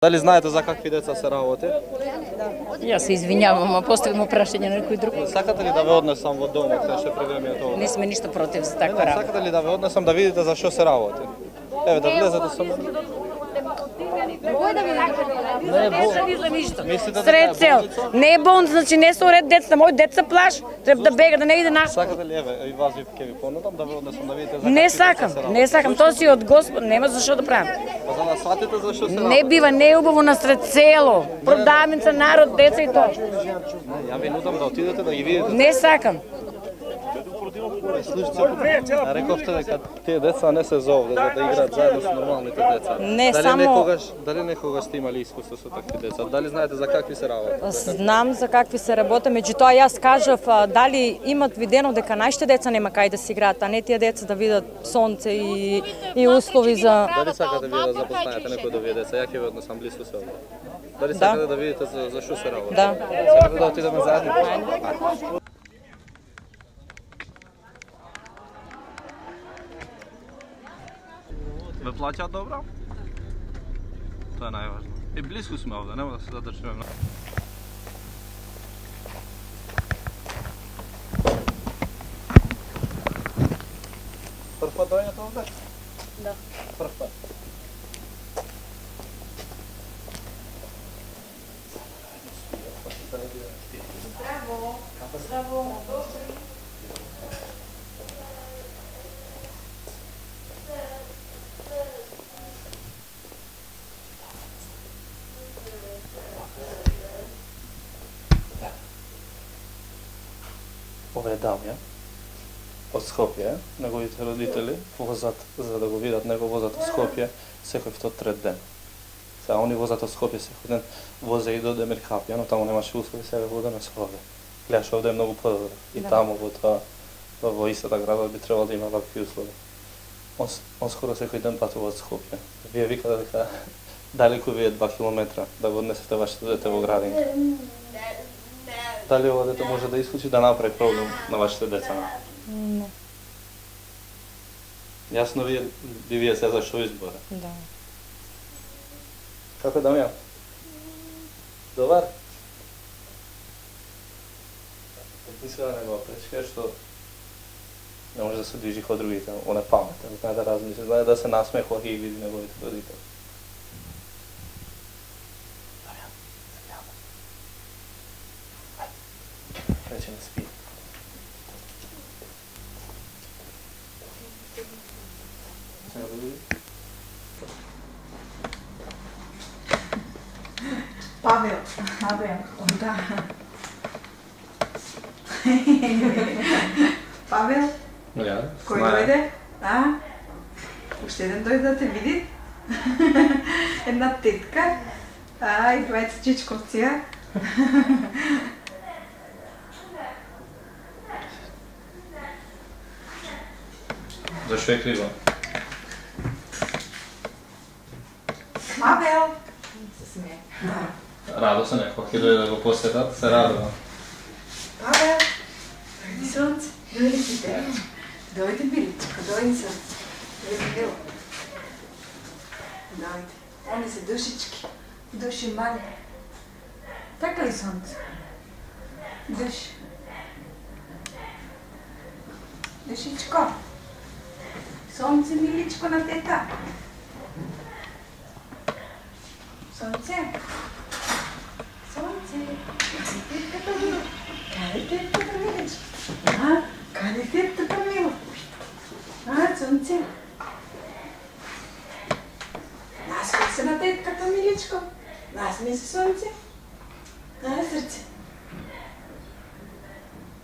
Дали знаете за какви деца се работи? Јас се извинјавам, а поставам прашање на некој друг. Сакате ли да ве однесам во домот, кај што прегремието? Не сме ништо против за таква работа. Сакате ли да ве однесам да видите за што се работи? Еве да влезете со мене. Не е болница. Мислите Сред цел. Не е болница, значи не се уред децата. Мој деца плаш, треба да бега, да не иде наш. Сакате ли еве и вас ќе ви понудам да ве однесам да видите за какви Не сакам, не сакам. Тоа си од Господ, нема за што да правам. Па за да сватите за што се работи. Не бива, не е убаво насред село. Продавница, народ, деца и тоа. Ја ви нудам да отидете да ги видите. Не сакам. Слушайте, рековте дека тие деца не се зовде за да играат заедно со нормалните деца. Не, само... Дали некогаш сте имали искуство со такви деца? Дали знаете за какви се работи? Знам за какви се работи, меѓутоа јас кажав дали имат видено дека нашите деца нема кај да си играат, а не тие деца да видат сонце и услови за... Дали сакате вие да запознаете некој од овие деца? Ја ќе ве однесам блиску се овде. Дали сакате да видите за што се работи? Да. Сакате да отидеме заедно? Ве плаќаат добро? Тоа е најважно. И блиску сме овде, нема да се задржиме многу. Прв пат доаѓате овде? Да. Прв пат. Здраво. Здраво. Ова е Дамјан од Скопје, неговите родители возат за да го видат него возат од Скопје секој втор трет ден. Сега они возат од Скопје секој ден, возе и до Демиркапија, но таму немаше услови, сега водеме со овде. Гледаш овде е многу подобро. И таму во истата града би требало да има вакви услови. Он скоро секој ден патува од Скопје. Вие викате дека далеку ви е 2 километра да го однесете вашето дете во градинка. Дали ова дете може да исклучи да направи проблем на вашите деца? Не. Јасно вие се за што избора. Да. Како е Дамјан? Добар? Мисля да не го пречка, што не може да се движи као другите, он е паметен, знае да размисли, знае да се насмехува и види неговите родители. Рече не спи. Павел, да. Павел, кој дојде? Уште еден дојде да те види? Една тетка. И двајца чичковција. Зашто е крива? Павел! Се смее. Радосен е, кога ќе дојде да го посетат, се радува. Павел! Дојди сонце, дојди ти те. Дојди биличко, дојди сонце. Дојди било. Дојди. Они се душички. Души мали. Така ли сонце? Души. Душичко. Сонце, миличко на тета. Сонце. Сонце. Тетката мило. Каде тетката миличко? Каде тетката мило? Сонце. Насмей се на тетката миличко. Насмей се, сонце. Срце.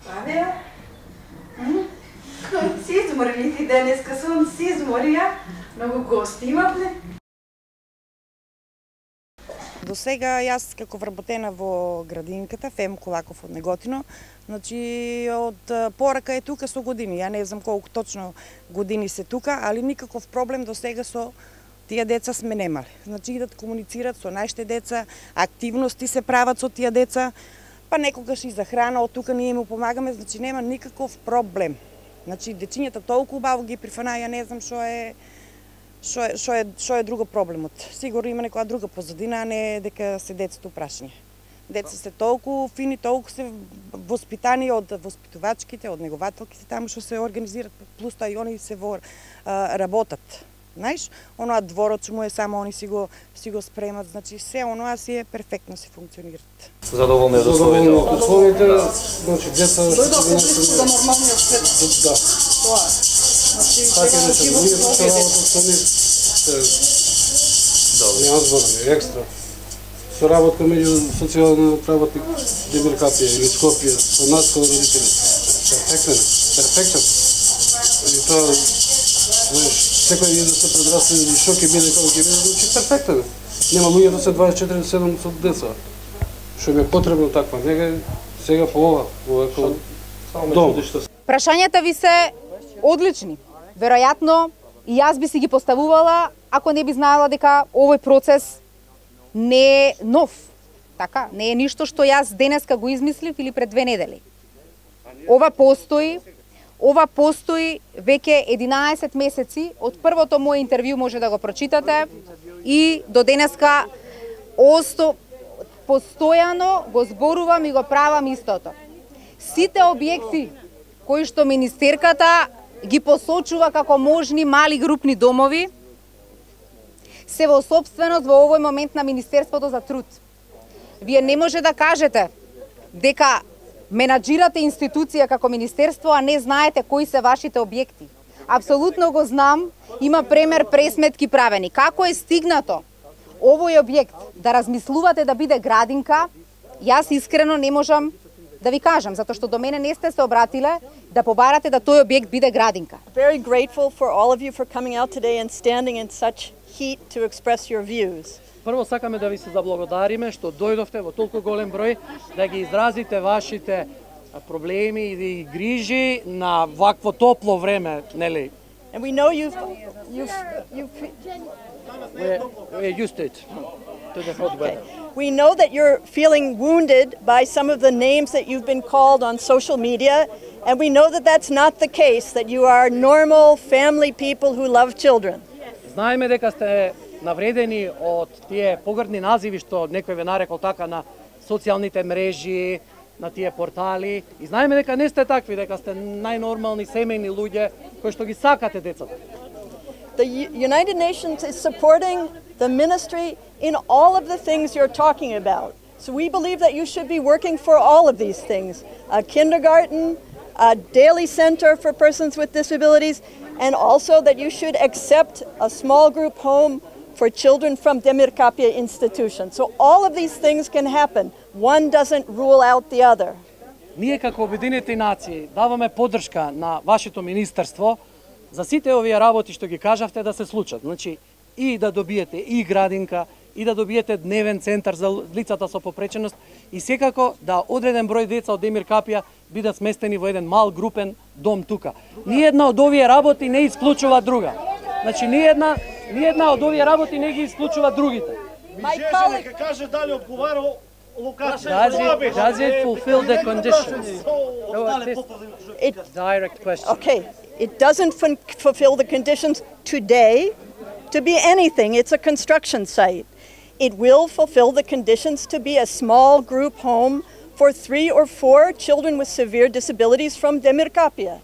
Павел. Си изморили ти денеска, сон си измори, Многу гости имавме. До сега јас како вработена во градинката Фем Колаков од Неготино, значи од порака е тука со години. Ја не знам колку точно години се тука, али никаков проблем до сега со тие деца сме немале. Значи идат комуницират со нашите деца, активности се прават со тие деца, па некогаш и за храна од тука ние им помагаме, значи нема никаков проблем. Значи дечињата толку убаво ги прифана, ја не знам Што е друго проблемот? Сигурно има некоја друга позадина, а не дека се децата прашање. Деца се толку фини, толку се воспитани од воспитувачките, од негователките таму што се организират, плюс тоа и они се работат. Знаеш, оноа дворот што му е само они си го спремат, значи се оноа си е перфектно се функционираат. Задоволни од условите, значи деца за нормалниот свет. Да. Тоа. Значи така да се ние што работат со нив. Нема зборови, екстра. Соработка меѓу социјален работник Демир Капија или Скопје со нас како родители. Перфектен. И тоа, знаеш, секој да се предрасне или што ќе биде како ќе биде, значи перфектен. Нема луѓе да се 24/7 со деца. Што ми е потребно таква, нега сега по ова е дом. Прашањата ви се одлични. Веројатно и јас би си ги поставувала ако не би знаела дека овој процес не е нов. Така, не е ништо што јас денеска го измислив или пред 2 недели. Ова постои веќе 11 месеци, од првото моје интервју може да го прочитате и до денеска постојано го зборувам и го правам истото. Сите објекти кои што министерката ги посочува како можни мали групни домови се во собственост во овој момент на Министерството за труд. Вие не може да кажете дека менаџирате институција како министерство, а не знаете кои се вашите објекти. Апсолутно го знам, има пресметки правени. Како е стигнато овој објект да размислувате да биде градинка, јас искрено не можам да ви кажам, затоа што до мене не сте се обратиле да побарате да тој објект биде градинка. Very grateful for all of you for coming out today and standing in such heat to express your views. Прво сакаме да ви се заблагодариме што дојдовте во толку голем број да ги изразите вашите проблеми и грижи на вакво топло време, нели? And we know We're used to it, to the hot weather. We know that you're feeling wounded by some of the names that you've been called on social media, and we know that that's not the case, that you are normal family people who love children. Знаеме дека сте навредени од тие погрдни називи што некој ве нарекол така на социјалните мрежи, на тие портали, и знаеме дека не сте такви, дека сте најнормални семејни луѓе кои што ги сакате децата. The United Nations is supporting the ministry in all of the things you're talking about. So we believe that you should be working for all of these things. A kindergarten, a daily center for persons with disabilities, and also that you should accept a small group home for children from Demir Kapia institution. So all of these things can happen. One doesn't rule out the other. Ние како Обединети нации даваме поддршка на вашето министерство за сите овие работи што ги кажавте да се случат. Значи, и да добиете и градинка, и да добиете дневен центар за лицата со попреченост, и секако да одреден број деца од Демир Капија бидат сместени во еден мал групен дом тука. Ниедна од овие работи не исклучува друга. Значи, ниедна од овие работи не ги исклучува другите. Нека каже дали одговара локација. Does it fulfill the conditions? Direct question. Okay, it doesn't fulfill the conditions today to be anything. It's a construction site. It will fulfill the conditions to be a small group home for 3 or 4 children with severe disabilities from Demir Kapia.